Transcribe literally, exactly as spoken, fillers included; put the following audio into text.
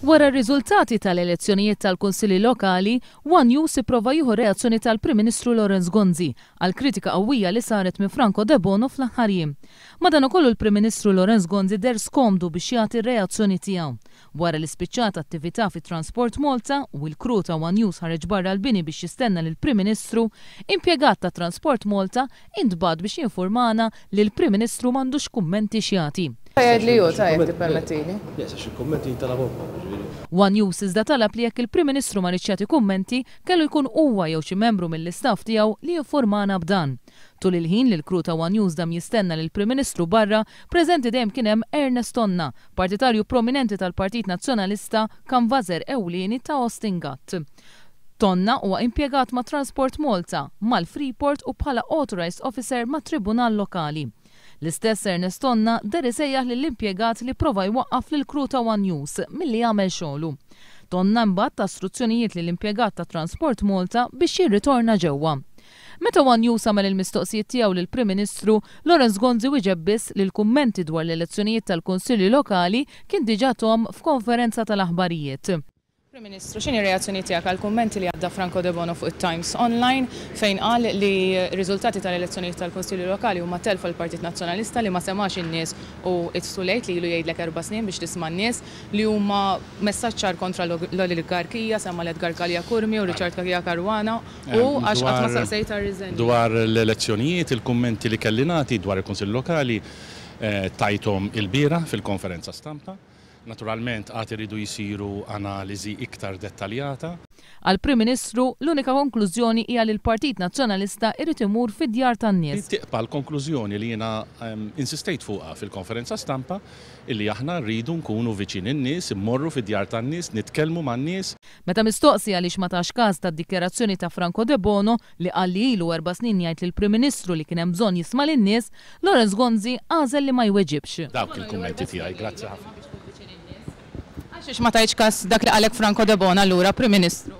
Wara r-riżultati tal-elezzjonijiet tal-Kunsilli Lokali, One News ipprova jieħu reazzjoni tal-Prim Ministru Lawrence Gonzi għal kritika qawwija li saret minn Franco Debono fl-aħħar jiem. Madankollu l-Prim Ministru Lawrence Gonzi deher skomdu biex jagħti r-reazzjoni tiegħu. Wara li spiċċat attività fi Transport Malta u l-crew ta' One News ħareġ barra l-bini biex jistenna lill-Prim Ministru, impjegat ta' Transport Malta intbagħat biex jinformana li l-Prim Ministru m'għandux kummenti x'jagħti. Jgħid li hu tajjeb tippermettili. Yes, għax il-kummenti jintalabhom, ġifieri. One News iżda talab li jekk il-Prim Ministru ma riedx jagħti kummenti, kellu jkun huwa jew xi membru mill-istaff tiegħu li jinformana b'dan. Tul il-ħin li l-crew ta' One News dam jistenna lill-Prim Ministru barra, preżenti dejjem kien hemm Ernest Tonna, partitarju prominenti tal-Partit Nazzjonalista, kanvażer ewlieni ta' Austin Gatt. Tonna huwa impjegat ma' Transport Malta, mal-Freeport u bħala Authorized Officer ma' Tribunal Lokali. L-istess Ernest Tonna deher isejjaħ lill-impjegat li prova jwaqqaf lill-crew ta' One News milli jagħmel xogħlu. Tonna mbagħad ta struzzjonijiet lill-impjegat ta' Transport Malta biex jirritorna ġewwa. Meta One News għamel il-mistoqsijiet tiegħu lill-Prim Ministru, Lawrence Gonzi wieġeb biss li l-kummenti dwar l-elezzjonijiet tal-Kunsilli Lokali kien diġà tahom f'konferenza tal-aħbarijiet. Prim Ministru, x'inhi reazzjoni tiegħek għal kummenti li għadda Franco Debono fuq it-Times Online fejn qal li r-riżultati tal-elezzjonijiet tal-Kunsilli Lokali huma telfa l-Partit Nazzjonalista li ma semax in-nies u it's too late li ilu jgħidlek erba' snin biex tisma' n-nies, li huma messaġġ ċar kontra l-oligarkija, semma l-Edgar Galea Curmi u Richard Cachia Caruana u għax qatt ma saqsejt għar-riżenja. Dwar l-elezzjonijiet, il-kummenti li kelli nagħti dwar il-Kunsill Lokali tajthom ilbieraħ fil-konferenza stampa. Naturalment għad iridu jisiru analiżi iktar dettaljata. Għal-Prim Ministru, l-unika konklużjoni hija li l-Partit Nazzjonalista irid imur fid-djar tan-nies. Tibqa' l-konklużjoni li jiena insistejt fuqha fil-konferenza stampa, illi aħna rridu nkunu viċin in-nies, immorru fid-djar tan-nies, nitkellmu man-nies. Meta mistoqsi għaliex ma tax każ tad-dikjarazzjoni ta' Franco Debono li qal li ilu erba' snin jgħid lill-Prim Ministru li kien hemm bżonn jisma' lin-nies, Lawrence Gonzi għażel li ma jweġibx. Dawk il-kummenti tiegħi, grazzi ħafna. Għax ma tajtx każ dak li qalek Franco Debono allura, Prim Ministru?